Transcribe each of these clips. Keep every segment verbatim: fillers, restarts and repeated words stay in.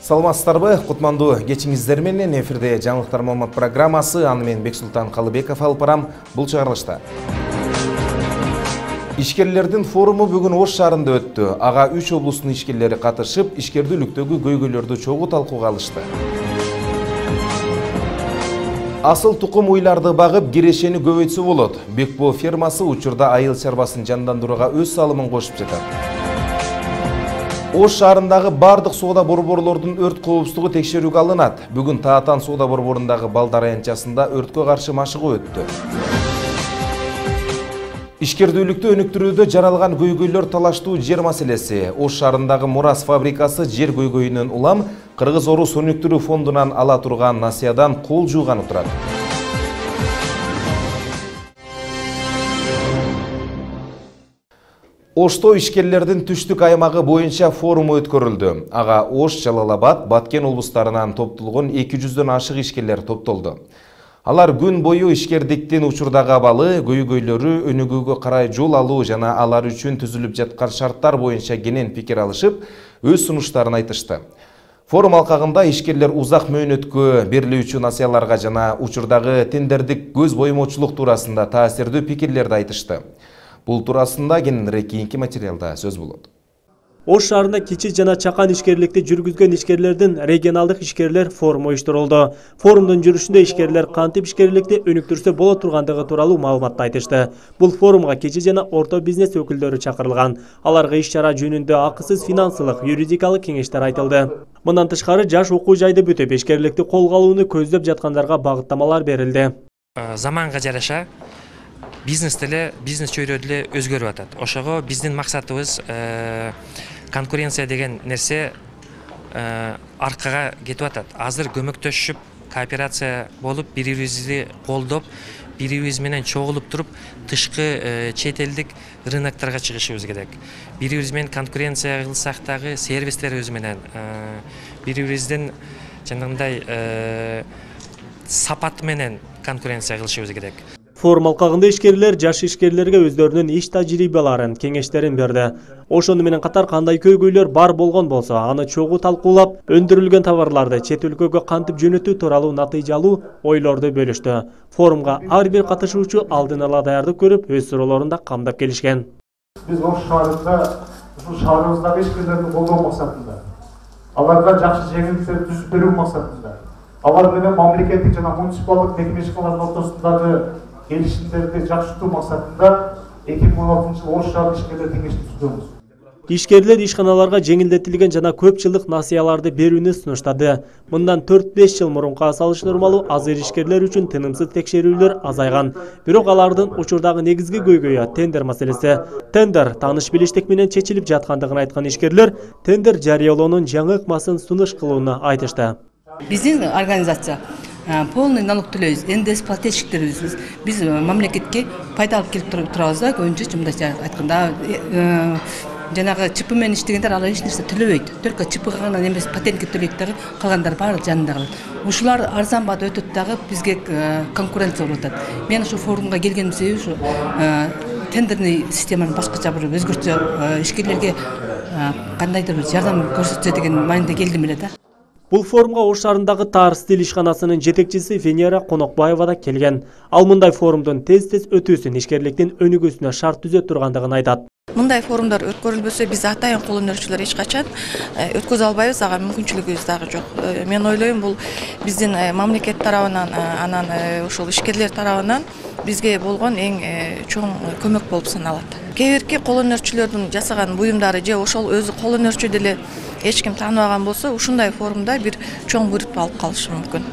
Саламатсыздарбы? Кутмандуу кечиңиздер менен эфирде жаңылыктар маалымат программасы, аны мен Бексултан Калыбеков алып барам. Бул чыгарылышта ишкерлердин форуму бүгүн Ош шаарында өттү. Ага үч облустун ишкерлери катышып, ишкердүүлүктөгү көйгөйлөрдү чогуу талкууга алышты. Асыл тукум уйларды багып, кирешени көбөйтсө болот. Бекбоо фермасы учурда айыл чарбасын жандандырууга өз салымын кошуп жатат. Ош шаарындагы бардык соода борборлордун өрт коопсуздугу текшерүүгө алынат. Бүгүн Таатан соода борборундагы балдар аянтчасында өрткө каршы машыгуу өттү. Ишкердүүлүктү өнүктүрүүдө жаралган көйгөйлөр талаштуу жер маселеси. Ош шаарындагы Мурас фабрикасы жер көйгөйүнөн улам Кыргыз Орус өнүктүрүү фондунан ала турган насыядан кол жууганы турат. Ошто ишкерлердин түштүк аймагы боюнча форум өткөрүлдү. Ага Ош, Жалал-Абад, Баткен облустарынан топтолгон эки жүздөн ашык ишкерлер топтолду. Алар күн бою ишкердиктин учурдагы абалы, көйгөйлөрү, өнүгүүгө карай жол алуу жана алар үчүн түзүлүп жаткан шарттар боюнча кенен пикир алышып, өз сунуштарын айтышты. Форум алкагында ишкерлер узак мөөнөткө берилүүчү насыяларга жана учурдагы тендердик көз боемоочулук туурасында таасирдүү пикирлерди айтышты. Бул туурасында кененирээк кийинки материалда сөз болот. Ош шаарында кичи жана чакан ишкерликти жүргүзгөн ишкерлердин регионалдык ишкерлер форуму уюштурулду. Форумдун жүрүшүндө ишкерлер кантип ишкерликти өнүктүрсө боло тургандыгы тууралуу маалыматты айтышты. Бул форумга кичи жана орто бизнес өкүлдөрү чакырылган. Аларга иш-чара жөнүндө акысыз финансылык, юридикалык кеңештер айтылды. Мындан тышкары жаш окуу жайды бүтүп, ишкерликти колго алууну көздөп жаткандарга багыттамалар берилди. Заманга жараша бизнес деле, бизнес чөйрө деле өзгөрүп атат. Ошого биздин максатыбыз конкуренция деген нерсе аркага кетип атат. Азыр көмөктөшүп, кооперация болуп, бири-бирибизди колдоп, бири-бирибиз менен чогулуп туруп, тышкы чет элдик рыноктарга чыгышыбыз керек. Бири-бирибиз менен конкуренция кылсак дагы сервистерибиз менен бири-бирибиздин жанагындай сапат менен конкуренция кылышыбыз керек. Форум алкагында ишкерлер жаш ишкерлерге өздөрүнүн иш тажрыйбаларын, кеңештерин берди. Ошону менен катар кандай көйгөйлөр бар болгон болсо, аны чогуу талкуулап, өндүрүлгөн товарларды чет өлкөгө кантип жөнөтүү тууралуу натыйжалуу ойлорду бөлүштү. Форумга ар бир катышуучу алдын ала даярдык көрүп, өз суроолорун да камдап келишкен. Биз Ош шаарында, ушул шаарыбыздагы ишкерлерди колдоо максатында, аларга жакшы жеңилдиктер түзүп берүү максатында, алар менен мамлекеттик жана муниципалдык мекемечкалардын ортосундагы келишимдерди жакшыртуу максатында эки миң он алтынчы жылы Ош шаар ишкерлер кеңешин түзгөнбүз. Ишкерлер ишканаларга жеңилдетилген жана көп жылдык насыяларды берүүнү сунуштады. Мындан төрт-беш жыл мурунка салыштырмалуу азыр ишкерлер үчүн тынымсыз текшерүүлөр азайган. Бирок алардын учурдагы негизги көйгөйү тендер маселеси. Тендер тааныш билиштик менен чечилип жаткандыгын айткан ишкерлер тендер жарыялоонун жаңы ыкмасын сунуш кылууну айтышты. Биздин организация полный налог төлөйбүз, эн дэ эс плательщиктерибиз. Биз мамлекетке пайда алып келип турабыз да, көбүнчө мындайча айтканда, жанагы чипы менен иштегендер алар эч нерсе төлөбөйт. Только чипыга гана эмес, патентке төлөйт дагы, калгандар баары жанында калат. Ушулар арзан баада өтөт дагы, бизге конкуренция болуп атат. Мен ушу форумга келгеним себеби ушу тендерный системаны башкача бир өзгөртсө, ишкерлерге кандайдыр бир жардам көрсөтсө деген маанайда келдим эле да. Бул форумга Ош шаарындагы Таар стиль ишканасынын жетекчиси Венера Конокбаева да келген. Ал мындай форумдун тез-тез өтүүсүн ишкерликтин өнүгүүсүнө шарт түзө тургандыгын айтат. Мындай форумдар өткөрүлбөсө биз атайын кол өнөрчүлөр эч качан өткөзө албайбыз, ага мүмкүнчүлүгүбүз дагы жок. Мен ойлойм, бул биздин мамлекет тарабынан, анан ошол ишкерлер тарабынан бизге болгон эң чоң көмөк болуп саналат. Кээ бирки кол өнөрчүлөрдүн жасаган буюмдары же ошол өзү кол өнөрчү деле эч ким тааныбаган болсо, ушундай форумда бир чоң буйрутма алып калышы мүмкүн.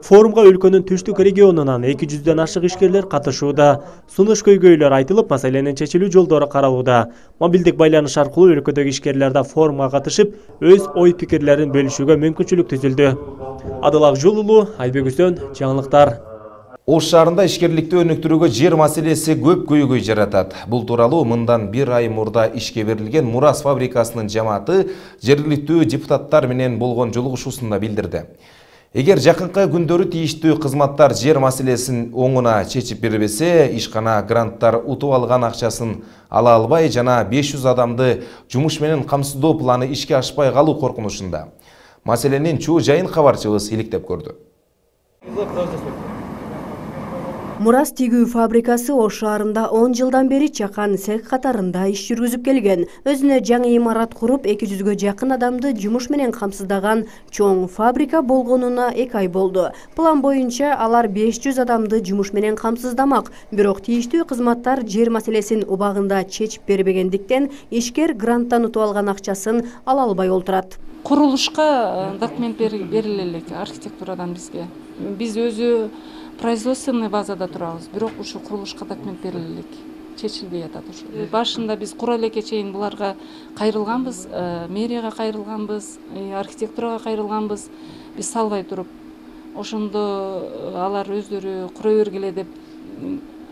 Форумга өлкөнүн түштүк регионунан эки жүздөн ашык ишкерлер катышууда. Сунуш көйгөйлөр айтылып, маселенин чечилүү жолдору каралууда. Мобилдик байланыш аркылуу өлкөдөгү ишкерлер да форумга катышып, өз ой-пикирлерин бөлүшүүгө мүмкүнчүлүк түзүлдү. Адылак Жулулу, Айбек Үсөн, жаңылыктар. Ош шаарында ишкерликти өнүктүрүүгө жер маселеси көп көйгөй жаратат. Бул тууралуу мындан бир ай мурда ишке берилген Мурас фабрикасынын жамааты жергиликтүү депутаттар менен болгон жолугушуусунда билдирди. Эгер жакынкы күндөрү тийиштүү кызматтар жер маселесин оңуна чечип бербесе, ишкана гранттар утуп алган акчасын ала албай жана беш жүз адамды жумуш менен камсыздоо планы ишке ашпай калуу коркунучунда. Маселенин чуу жайын кабарчыбыз иликтеп көрдү. Мурас тигүү фабрикасы Ош шаарында он жылдан бери чакан цех катарында иш жүргүзүп келген. Өзүнө жаңы имарат куруп эки жүзгө жакын адамды жумуш менен камсыздаган чоң фабрика болгонуна эки ай болду. План боюнча алар беш жүз адамды жумуш менен камсыздамак. Бирок тийиштүү кызматтар жер маселесин убагында чечип бербегендиктен ишкер гранттан утуп алган акчасын ала албай олтурат. Курулушка документ бериле элек архитектурадан бизге. Биз өзү производственный базада турабыз, бирок ушу курулушка документ бериле элек. Чечилбей атат ушу. Башында биз кура элекке чейин буларга кайрылганбыз, мэрияга кайрылганбыз, архитектурага кайрылганбыз. Биз салбай туруп, ошондо алар өздөрү кура бергиле деп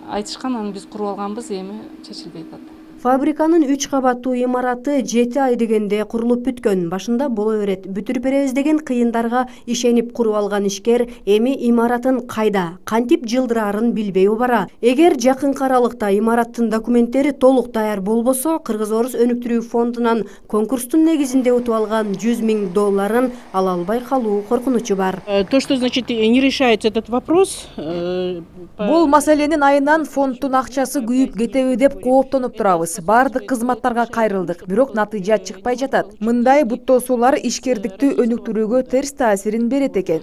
айтышкан, анан биз куруп алганбыз, эми чечилбей атат. Фабриканын үч кабаттуу имараты жети ай дегенде курулуп бүткөн. Башында боло берет, бүтүрүп беребиз деген кыйындарга ишенип куруп алган ишкер эми имаратын кайда, кантип жылдырарын билбей убара. Эгер жакынкы аралыкта имараттын документтери толук даяр болбосо, Кыргыз-Орус өнүктүрүү фондунан конкурстун негизинде утуп алган жүз миң долларын ала албай калуу коркунучу бар. То, что значит не решается этот вопрос. Бул маселенин айынан фонддун акчасы күйүп кетеби деп кооптонуп турабыз. Бардык кызматтарга кайрылдык, бирок натыйжа чыкпай жатат. Мындай буттоосуулар ишкердикти өнүктүрүүгө терс таасирин берет экен.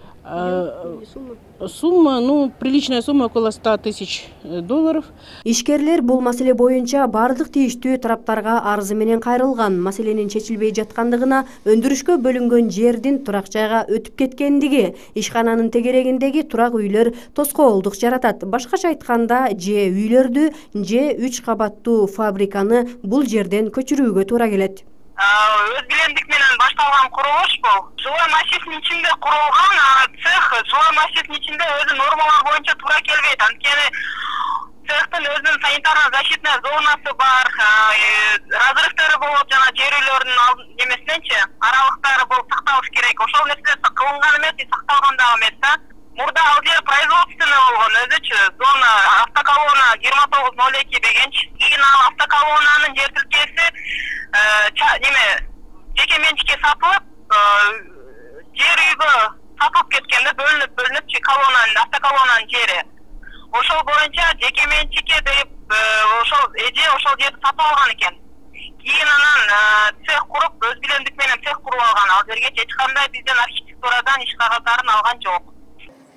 Сумма, ну, приличная сумма, около ста тысяч долларов. Ишкерлер бул маселе боюнча бардык тийиштүү тараптарга арызы менен кайрылган. Маселенин чечилбей жаткандыгына, өндүрүшкө бөлүнгөн жердин турак жайга өтүп кеткендиги, ишкананын тегерегиндеги турак үйлөр тоскоолдук жаратат. Башкача айтканда, же үйлөрдү, же үч кабаттуу фабриканы бул жерден көчүрүүгө туура келет. Өз билендик менен башталган курулуш бул. Жилой массивдин ичинде курулган цех, жилой массивдин ичинде өзү нормалар боюнча туура келбейт. Анткени цехтин өзүнүн санитарно-защитный зонасы бар, разрывдары болот, жана жер үйлөрүнүн немесиненчи аралыктары болуп сакталыш керек. Ошол нерселер кылынган эмес, сакталган дагы эмес да. Мурда ал жер производственный болгон өзүчү зона автоколонна жыйырма тогуз ноль эки дегенчи. Кийин ал автоколоннанын жер тилкеси неме жеке менчикке сатылып, жер үйгө сатылып кеткенде бөлүнүп бөлүнүп колоннанын автоколоннанын жери. Ошол боюнча жеке менчикке деп ошол эже ошол жерди сатып алган экен. Кийин анан цех куруп, өз билендик менен цех куруп алган. Ал жерге эч кандай бизден архитектурадан иш кагыздарын алган жок.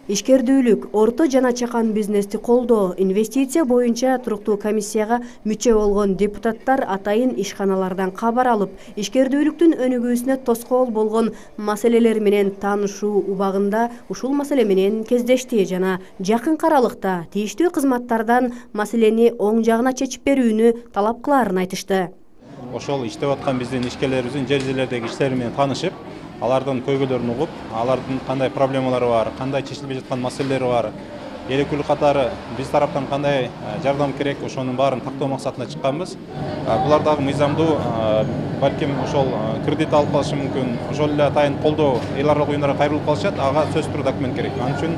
Ишкердүүлүк, орто жана чакан бизнести колдоо, инвестиция боюнча туруктуу комиссияга мүчө болгон депутаттар атайын ишканалардан кабар алып, ишкердүүлүктүн өнүгүүсүнө тоскоол болгон маселелер менен таанышуу убагында ушул маселе менен кездешти жана жакынкы аралыкта тийиштүү кызматтардан маселени оң жагына чечип берүүнү талап кылаарын айтышты. Ошол иштеп аткан биздин ишкерлерибиздин жер жерлердеги иштери менен таанышып, алардын көйгөйлөрүн угуп, алардын кандай проблемалары бар, кандай чечилбей жаткан маселелери бар, керектүүлүк катары биз тараптан кандай жардам керек, ошонун баарын тактоо максатында чыкканбыз. Булар дагы мыйзамдуу, балким ошол кредит алып калышы мүмкүн, ошол эле атайын колдоо эл аралык уюмдарга кайрылып калышат, ага сөзсүз түрдө документ керек. Анын үчүн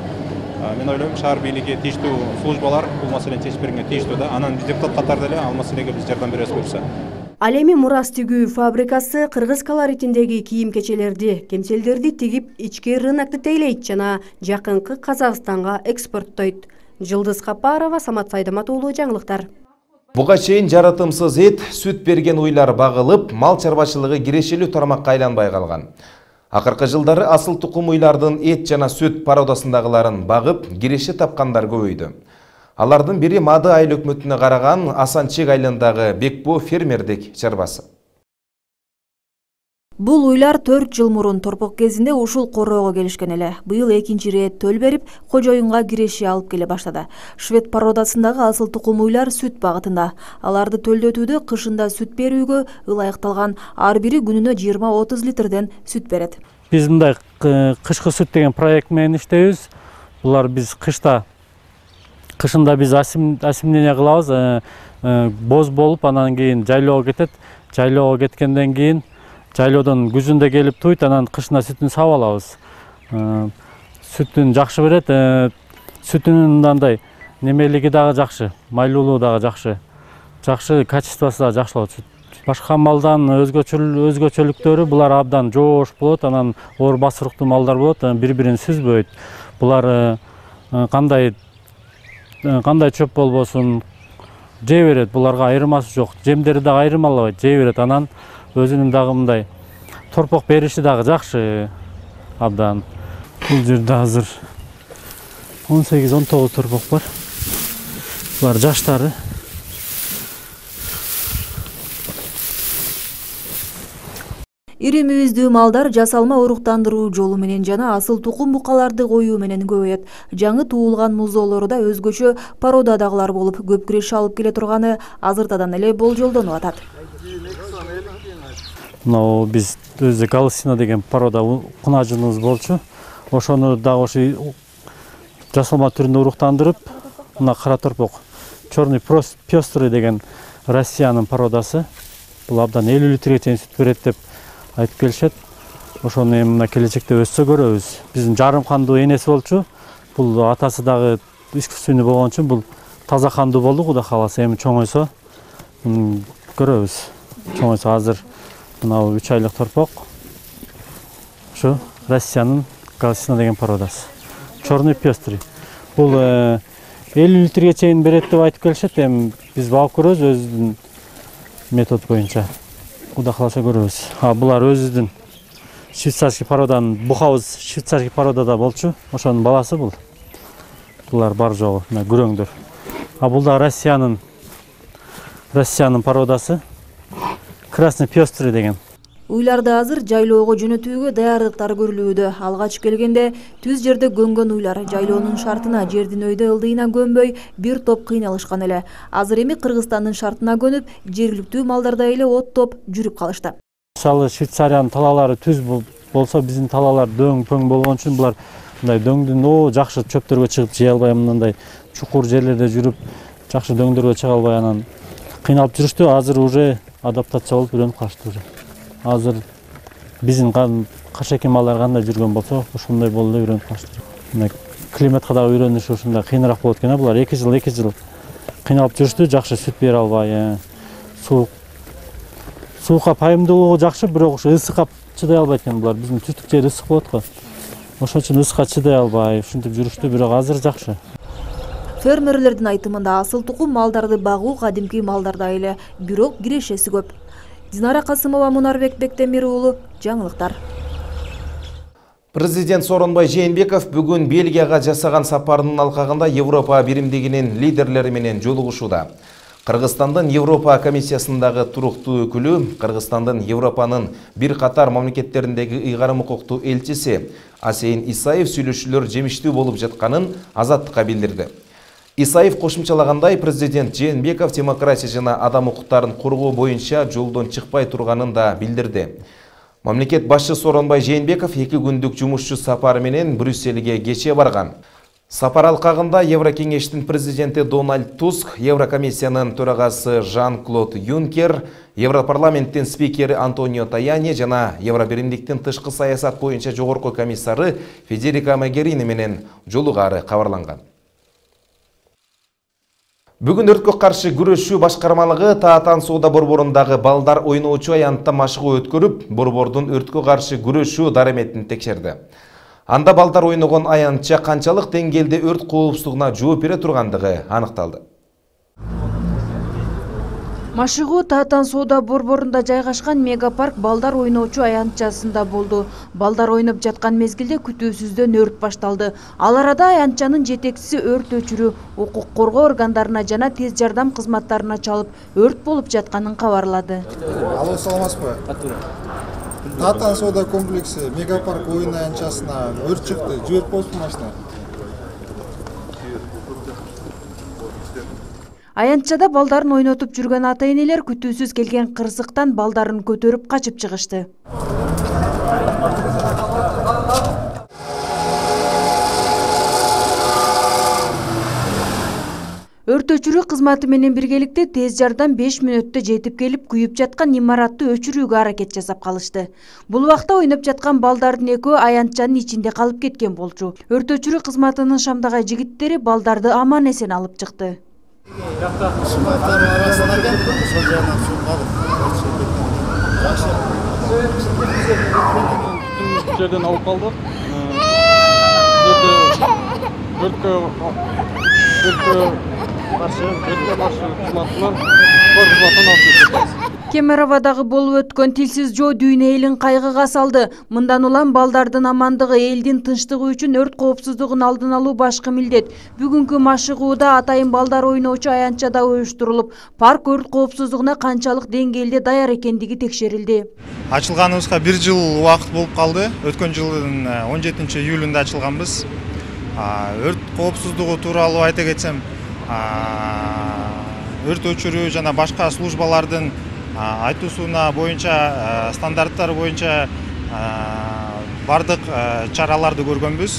мен ойлойм, шаар бийлиги тийиштүү службалар бул маселени чечип бергенге тийиштүү да. Анан биз депутат катары деле ал маселеге биз жардам беребиз буюрса. Ал эми Мурас тигүү фабрикасы кыргыз колоритиндеги кийим-кечелерди, кемселдерди тигип, ички рынокты тейлейт жана жакынкы Казакстанга экспорттойт. Жылдыз Капарова, Самат Сайдамат уулу, жаңылыктар. Буга чейин жаратымсыз эт, сүт берген уйлар багылып, мал чарбачылыгы кирешелүү тармакка айланбай калган. Акыркы жылдары асыл тукум уйлардын эт жана сүт пародасындагыларын багып, киреше тапкандар көбөйдү. Алардын бири Мады айыл өкмөтүнө караган Асанчек айылындагы Бекбо фермердик чарбасы. Бул уйлар төрт жыл мурун торпок кезинде ушул короого келишкен эле. Быйыл экинчи ирет төл берип, кожоюнга киреше алып келе баштады. Швед породасындагы асыл тукум уйлар сүт багытында. Аларды төлдөтүүдө кышында сүт берүүгө ылайыкталган, ар бири күнүнө жыйырма отуз литрден сүт берет. Биз мындай кышкы сүт деген проект менен иштейбиз. Булар биз кышта Кышында биз асимдение кылабыз, боз болуп, анан кийин жайлоого кетет. Жайлоого кеткенден кийин жайлоодон күзүндө келип туйт, анан кышында сүтүн сабап алабыз. Сүтүн жакшы берет, сүтүнүн мындай немелиги дагы жакшы, майлуулугу дагы жакшы. Жакшы качествосу дагы жакшы болот сүт. Башка малдан өзгөчөлүктөрү булар абдан жоош болот, анан оор басырыктуу малдар болот, бири-бирин сүзбөйт. Булар кандай кандай чөп болбосун жей берет, буларга айырмасы жок. Жемдери дагы айырмалабайт, жей берет. Анан өзүнүн дагы мындай торпок бериши дагы жакшы абдан. Бул жерде азыр он сегиз он тогуз торпок бар. Булар жаштары. Ири мүйүздүү малдар жасалма уруктандыруу жолу менен жана асыл тукум букаларды коюу менен көбөйөт. Жаңы туулган музоолору да өзгөчө породадагылар болуп, көп киреш алып келе турганы азыртадан эле болжолдонуп атат. Мына биз өзү галсина деген порода кунажыныбыз болчу. Ошону дагы ошо жасалма түрүндө уруктандырып, мына кара торпок черный пестрый деген Россиянын породасы. Бул абдан элүү литрге чейин сүт берет деп айтып келишет. Ошону эми мына келечекте өссө көрөбүз. Биздин жарым кандуу энеси болчу. Бул атасы дагы искусственный болгон үчүн бул таза кандуу болду, Кудай кааласа. Эми чоңойсо көрөбүз. Чоңойсо азыр мына үч айлык торпок. Ушу Россиянын галсина деген породасы. Черный пестрый. Бул элүү литрге чейин берет деп айтып келишет. Эми биз багып көрөбүз өзүбүздүн метод боюнча. Кудай кааласа көрөбүз. А булар өзүбүздүн швейцарский породанын бухабыз швейцарский породада болчу. Ошонун баласы бул. Булар бар жогу мына күрөңдөр. А бул да Россиянын Россиянын породасы красный пестрый деген. Уйларды азыр жайлоого жөнөтүүгө даярдыктар көрүлүүдө. Алгач келгенде түз жерде көнгөн уйлар жайлоонун шартына, жердин өйдө ылдыйына көнбөй бир топ кыйналышкан эле. Азыр эми Кыргызстандын шартына көнүп, жергиликтүү малдардай эле оттоп жүрүп калышты. Мисалы Швейцариянын талаалары түз болсо, биздин талаалар дөң-пөң болгон үчүн булар мындай дөңдүн о жакшы чөптөргө чыгып жей албай, мындай чукур жерлерде жүрүп, жакшы дөңдөргө чыга албай анан кыйналып жүрүштү. Азыр уже адаптация болуп үйрөнүп калышты уже. Азыр биздин кашеки малдар кандай жүргөн болсо, ошондой болду үйрөнүп калышты. Мына климатка дагы үйрөнүш ушундай кыйыныраак болот экен. Булар эки жыл эки жыл кыйналып жүрүштү, жакшы сүт бере албай, суук суукка пайымдуулугу жакшы, бирок ушу ысыкка чыдай албайт экен булар. Биздин түштүк жер ысык болот го. Ошон үчүн ысыкка чыдай албай, ушинтип жүрүштү, бирок азыр жакшы. Фермерлердин айтымында асыл тукум малдарды багуу кадимки малдардай эле, бирок кирешеси көп. Динара Касымова, Мунарбек Бектемир уулу, жаңылыктар. Президент Сооронбай Жээнбеков бүгүн Бельгияга жасаган сапарынын алкагында Европа биримдигинин лидерлери менен жолугушууда. Кыргызстандын Европа комиссиясындагы туруктуу өкүлү, Кыргызстандын Европанын бир катар мамлекеттериндеги ыйгарым укуктуу элчиси Асейин Исаев сүйлөшүүлөр жемиштүү болуп жатканын Азаттыкка билдирди. Исаев кошумчалагандай, президент Жээнбеков демократия жана адам укуктарын коргоо боюнча жолдон чыкпай турганын да билдирди. Мамлекет башчы Сооронбай Жээнбеков эки күндүк жумушчу сапары менен Брюссельге кечээ барган. Сапар алкагында Еврокеңештин президенти Дональд Туск, Еврокомиссиянын төрагасы Жан-Клод Юнкер, Европарламенттин спикери Антонио Таяни жана Евробиримдиктин тышкы саясат боюнча жогорку комиссары Федерика Могерини менен жолугары кабарланган. Бүгүн өрткө каршы күрөшүү башкармалыгы Таатан соода борборундагы балдар ойноочу аянтта машыгуу өткөрүп, борбордун өрткө каршы күрөшүү дареметин текшерди. Анда балдар ойногон аянтча канчалык деңгээлде өрт коопсуздугуна жооп бере тургандыгы аныкталды. Машыгуу Таатан соода борборунда жайгашкан мегапарк балдар ойноочу аянтчасында болду. Балдар ойноп жаткан мезгилде күтүүсүздөн өрт башталды. Ал арада аянтчанын жетекчиси өрт өчүрүү, укук коргоо органдарына жана тез жардам кызматтарына чалып, өрт болуп жатканын кабарлады. Алло, саламатсызбы? Таатан соода комплекси мегапарк оюн аянтчасына өрт чыкты. Жиберип коюпсузбу машина? Аянтчада балдарын ойнотуп жүргөн ата-энелер күтүүсүз келген кырсыктан балдарын көтөрүп качып чыгышты. Өрт өчүрүү кызматы менен биргеликте тез жардам беш мүнөттө жетип келип, күйүп жаткан имаратты өчүрүүгө аракет жасап калышты. Бул убакта ойноп жаткан балдардын экөө аянтчанын ичинде калып кеткен болчу. Өрт өчүрүү кызматынын Шамдагай жигиттери балдарды аман эсен алып чыкты. Жакта кышматтардын арасынан сол жагынан суу калып жерден алып калдык. Өрткө өрткө каршы өрткө каршы кызматтан кор кызматтан алып кетебиз. Кемеровадагы болуп өткөн тилсиз жоо дүйнө элин кайгыга салды. Мындан улам балдардын амандыгы, элдин тынчтыгы үчүн өрт коопсуздугун алдын алуу башкы милдет. Бүгүнкү машыгууда атайын балдар ойноочу аянтчада уюштурулуп, парк өрт коопсуздугуна канчалык деңгээлде даяр экендиги текшерилди. Ачылганыбызга бир жыл убакыт болуп калды. Өткөн жылдын он жетинчи июлунда ачылганбыз. Өрт коопсуздугу тууралуу айта кетсем, өрт өчүрүү жана башка службалардын айтуусуна боюнча, стандарттар боюнча бардык чараларды көргөнбүз.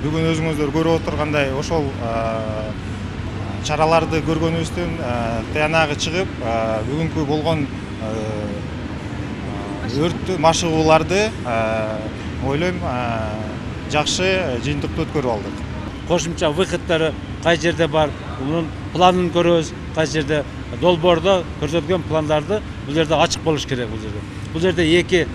Бүгүн өзүңүздөр көрүп отургандай ошол чараларды көргөнүбүздөн таянагы чыгып, бүгүнкү болгон өрт машыгууларды ойлойм жакшы жыйынтыктуу өткөрүп алдык. Кошумча выходдары кай жерде бар, мунун планын көрөбүз, кай жерде долбоордо көрсөтүлгөн пландарды бул жерде ачык болуш керек. Бул жерде бул жерде эки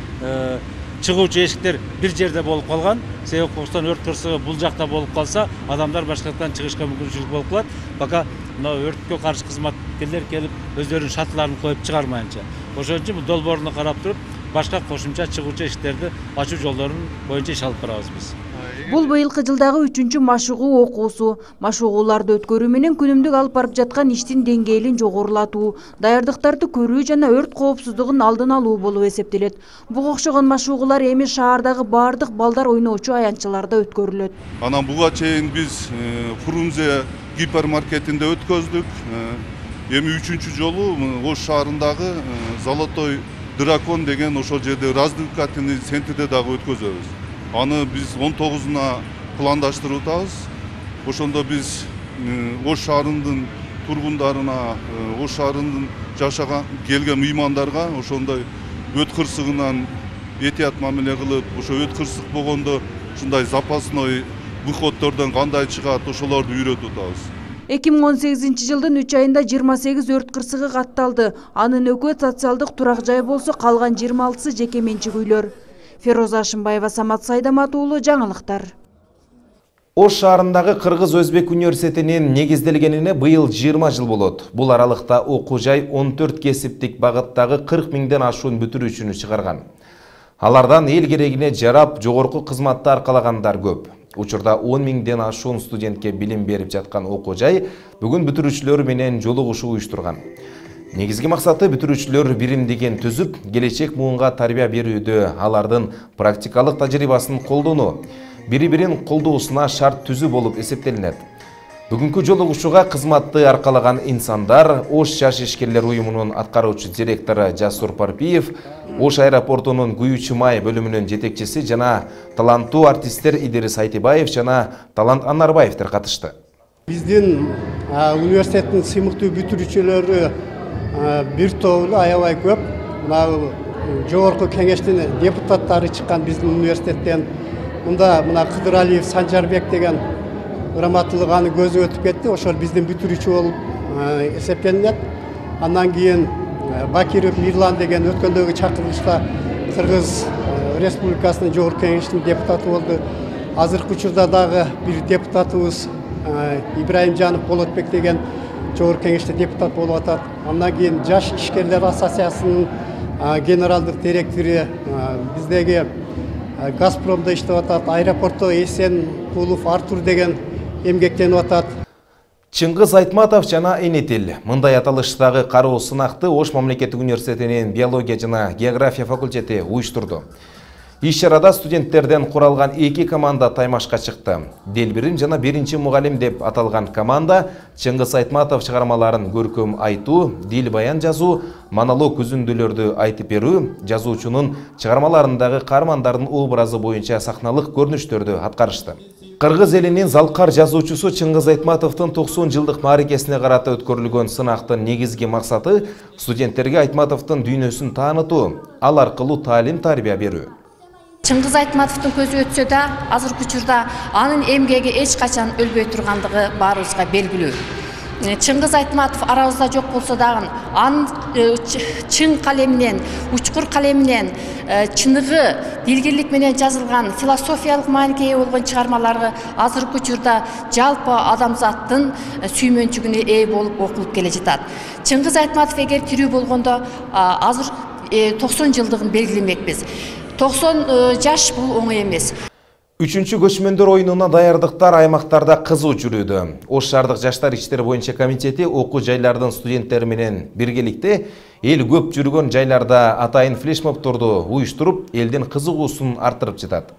чыгуучу эшиктер бир жерде болуп калган. Себеп кокустан өрт кырсыгы бул жакта болуп калса, адамдар башка жактан чыгышка мүмкүнчүлүк болуп калат. Пока мына өрткө каршы кызматкерлер келип өздөрүнүн шатыларын коюп чыгармайынча. Ошон үчүн бул долбооруна карап туруп, башка кошумча чыгуучу эшиктерди ачуу жолдорун боюнча иш алып барабыз биз. Бул быйылкы жылдагы үчүнчү машыгуу окуусу. Машыгууларды өткөрүү менен күнүмдүк алып барып жаткан иштин деңгээлин жогорулатуу, даярдыктарды көрүү жана өрт коопсуздугун алдын алуу болуп эсептелет. Буга окшогон машыгуулар эми шаардагы бардык балдар ойноочу аянтчаларда өткөрүлөт. Анан буга чейин биз Фрунзе гипермаркетинде өткөздүк. Эми үчүнчү жолу Ош шаарындагы Золотой дракон деген ошол жерде развлекательный центрде дагы өткөзөбүз. Аны биз он тогузуна пландаштырып атабыз. Ошондо биз Ош шаарынын тургундарына, Ош шаарынын жашаган келген меймандарга ошондой өт кырсыгынан этият мамиле кылып, ошо өт кырсык болгондо ушундай запасной выходдордон кандай чыгат, ошолорду үйрөтүп атабыз. эки миң он сегизинчи жылдын үч айында жыйырма сегиз өрт кырсыгы катталды. Анын экөө социалдык турак жай болсо, калган жыйырма алтысы жеке менчик үйлөр. Фероза Ашымбаева, Самат Сайдамат уулу, жаңылыктар. Ош шаарындагы Кыргыз-Өзбек университетинин негизделгенине быйыл жыйырма жыл болот. Бул аралыкта окуу жай он төрт кесиптик багыттагы кырк миңден ашуун бүтүрүүчүнү чыгарган. Алардан эл керегине жарап, жогорку кызматты аркалагандар көп. Учурда он миңден ашуун студентке билим берип жаткан окуу жай бүгүн бүтүрүүчүлөр менен жолугушуу уюштурган. Негизги максаты бүтүрүүчүлөр биримдигин түзүп, келечек муунга тарбия берүүдө алардын практикалык тажрыйбасын колдонуу, бири-бирин колдоосуна шарт түзүү болуп эсептелинет. Бүгүнкү жолугушууга кызматты аркалаган инсандар Ош жаш ишкерлер уюмунун аткаруучу директору Жасур Парпиев, Ош аэропортунун Күйүүчү май бөлүмүнүн жетекчиси жана таланттуу артисттер Идирис Айтыбаев жана Талант Анарбаевдер катышты. Биздин университеттин сыймыктуу бүтүрүүчүлөрү бир тобу аябай көп. Мына жогорку кеңештин депутаттары чыккан биздин университеттен. Мында мына Кыдыралиев Санжарбек деген ырматтуулук аны көзү өтүп кетти. Ошол биздин бүтүрүүчү болуп эсептелинет. Андан кийин Бакиров Мирлан деген өткөндөгү чакырылышта Кыргыз Республикасынын жогорку кеңешинин депутаты болду. Азыркы учурда дагы бир депутатыбыз Ибраимжанов Болотбек деген жогорку кеңеште депутат болуп атат. Андан кийин Жаш ишкерлер ассоциациясынын генералдык директору, биздеги Газпромдо иштеп атат, аэропортто Эсен Кулов Артур деген эмгектенип атат. Чыңгыз Айтматов жана Энетил мындай аталыштагы кароо сынакты Ош мамлекеттик университетинин биология жана география факультети уюштурду. Иш-чарада студенттерден куралган эки команда таймашка чыкты. Делбирим жана биринчи мугалим деп аталган команда Чыңгыз Айтматов чыгармаларын көркөм айтуу, дил баян жазуу, монолог үзүндүлөрдү айтып берүү, жазуучунун чыгармаларындагы каармандардын образы боюнча сахналык көрүнүштөрдү аткарышты. Кыргыз элинин залкар жазуучусу Чыңгыз Айтматовдун токсон жылдык мааракесине карата өткөрүлгөн сынактын негизги максаты студенттерге Айтматовдун дүйнөсүн таанытуу, ал аркылуу таалим-тарбия берүү. Чыңгыз Айтматовдун көзү өтсө да, азыркы учурда анын эмгеги эч качан өлбөй тургандыгы баарыбызга белгилүү. Чыңгыз Айтматов арабызда жок болсо дагы анын чың калеминен, учкур калеминен, чыныгы, дилгирлик менен жазылган философиялык мааниге ээ болгон чыгармалары азыркы учурда жалпы адамзаттын сүймөнчүгүнө ээ болуп окулуп келе жатат. Чыңгыз Айтматов эгер тирүү болгондо азыр токсон жылдыгын белгилемекпиз. токсон жаш бул оңой эмес. Үчүнчү көчмөндөр оюнуна даярдыктар аймактарда кызуу жүрүүдө. Ош шаардык жаштар иштери боюнча комитети окуу жайлардын студенттери менен биргеликте эл көп жүргөн жайларда атайын флешмобторду уюштуруп, элдин кызыгуусун арттырып жатат.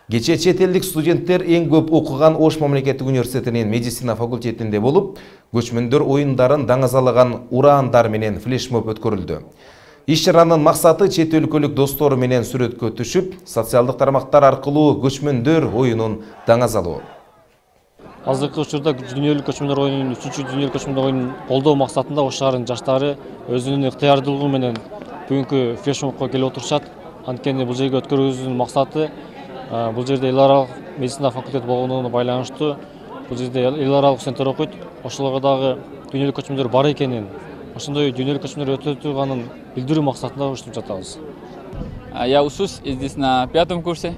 Кечээ чет элдик студенттер эң көп окуган Ош мамлекеттик университетинин медицина факультетинде болуп, көчмөндөр оюндарын даңазалаган ураандар менен флешмоб өткөрүлдү. Иш-чаранын максаты чет өлкөлүк достору менен сүрөткө түшүп, социалдык тармактар аркылуу көчмөндөр оюнун даңазалоо. Азыркы учурда дүйнөлүк көчмөндөр оюнунун үчүнчү дүйнөлүк көчмөндөр оюнун колдоо максатында Ош шаарынын жаштары өзүнүн ыктыярдуулугу менен бүгүнкү флешмобко келип отурушат. Анткени бул жерге өткөрүүбүздүн максаты бул жерде эл аралык медицина факультети болгондугуна байланыштуу. Бул жерде эл аралык студенттер окуйт. Ошолорго дагы дүйнөлүк көчмөндөр бар экенин, ошондой дүйнөлүк көчмөндөр өтө турганын билдирүү максатында уюштуруп жатабыз. Я учусь здесь на пятом курсе,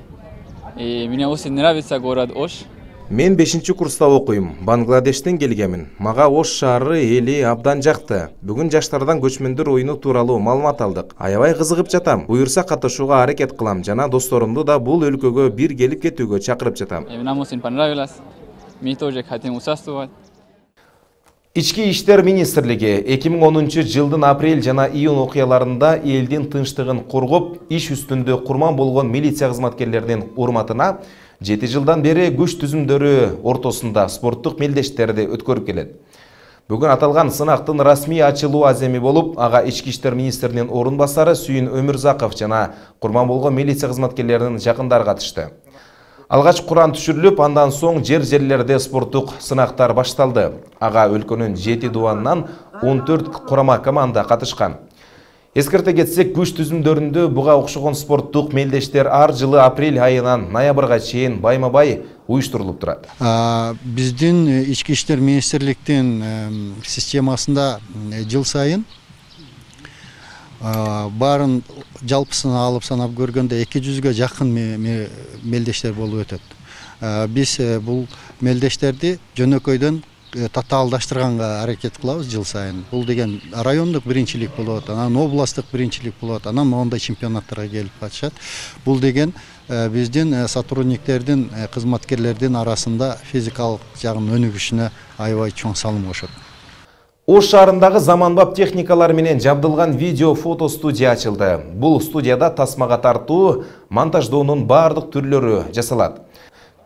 и мне очень нравится город Ош. Мен бешинчи курста окуйм. Бангладештен келгемин. Мага Ош шаары эли абдан жакты. Бүгүн жаштардан көчмөндөр оюну тууралуу маалымат алдык. Аябай кызыгып жатам. Буюрса катышууга аракет кылам жана досторумду да бул өлкөгө бир келип кетүүгө чакырып жатам. Нам очень понравилось. Мы тоже хотим участвовать. Ички иштер министрлиги эки миң онунчу жылдын апрель жана июнь окуяларында элдин тынчтыгын коргоп, иш үстүндө курман болгон милиция кызматкерлеринин урматына жети жылдан бери күч түзүмдөрү ортосунда спорттук мелдештерди өткөрүп келет. Бүгүн аталган сынактын расмий ачылуу аземи болуп, ага ички иштер министринин орун басары Сүйүн Өмүрзаков жана курман болгон милиция кызматкерлеринин жакындары катышты. Алгач куран түшүрүлүп, андан соң жер-жерлерде спорттук сынактар башталды. Ага өлкөнүн жети дубанынан он төрт курама команда катышкан. Эскерте кетсек, күч түзүмдөрүндө буга окшогон спорттук мелдештер ар жылы апрель айынан ноябрга чейин байма-бай уюштурулуп турат. Биздин ички иштер министрликтин системасында жыл сайын барын жалпысын алып санап көргөндө эки жүзгө жакын мелдештер болуп өтөт. Биз бул мелдештерди жөнөкөйдөн татаалдаштырганга аракет кылабыз жыл сайын. Бул деген райондук биринчилик болот, анан областтык биринчилик болот, анан моундай чемпионаттарга келип катышат. Бул деген биздин сотрудниктердин, кызматкерлердин арасында физикалык жагын өнүгүшүнө аябай чоң салым кошот. Ош шаарындагы заманбап техникалар менен жабдылган видео фото студия ачылды. Бул студияда тасмага тартуу, монтаждоонун бардык түрлөрү жасалат.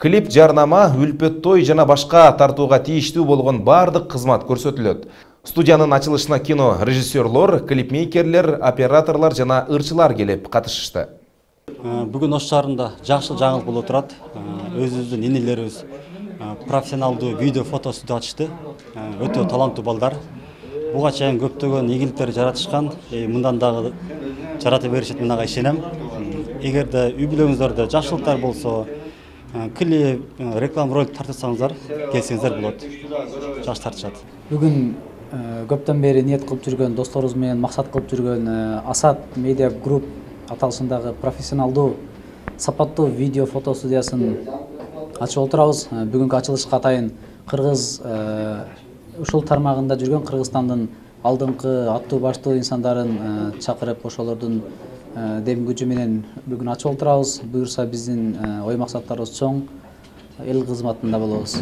Клип, жарнама, үлпөт той жана башка тартууга тийиштүү болгон бардык кызмат көрсөтүлөт. Студиянын ачылышына кино режиссерлор, клипмейкерлер, операторлор жана ырчылар келип катышышты. Бүгүн Ош шаарында жакшы жаңылык болуп турат. Өзүбүздүн инилерибиз профессионалдуу видео фото студия ачышты. Өтө таланттуу балдар. Буга чейин көптөгөн ийгиликтер жаратышкан. Мындан дагы жарата беришет, мынага ишенем. Эгерде үй бүлөңүздөрдө жакшылыктар болсо, клип, реклама ролик тартсаңыздар, келсеңиздер болот. Жакшы тартышат. Бүгүн көптөн бери ниет кылып жүргөн досторубуз менен максат кылып жүргөн Асад Медиа Групп аталышындагы профессионалдуу сапаттуу видео фото студиясын ачып отурабыз. Бүгүнкү ачылышка атайын кыргыз ушул тармагында жүргөн Кыргызстандын алдыңкы аттуу баштуу инсандарын чакырып, ошолордун дем күчү менен бүгүн ачып отурабыз. Буюрса биздин ой максаттарыбыз чоң, эл кызматында болобуз.